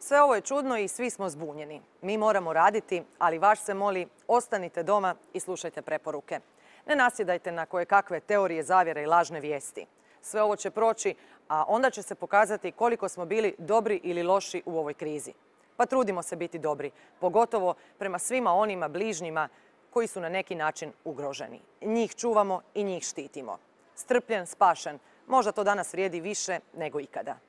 Sve ovo je čudno i svi smo zbunjeni. Mi moramo raditi, ali vaš se moli, ostanite doma i slušajte preporuke. Ne nasjedajte na kojekakve teorije zavjere i lažne vijesti. Sve ovo će proći, a onda će se pokazati koliko smo bili dobri ili loši u ovoj krizi. Pa trudimo se biti dobri, pogotovo prema svima onima bližnjima koji su na neki način ugroženi. Njih čuvamo i njih štitimo. Strpljen, spašen, možda to danas vrijedi više nego ikada.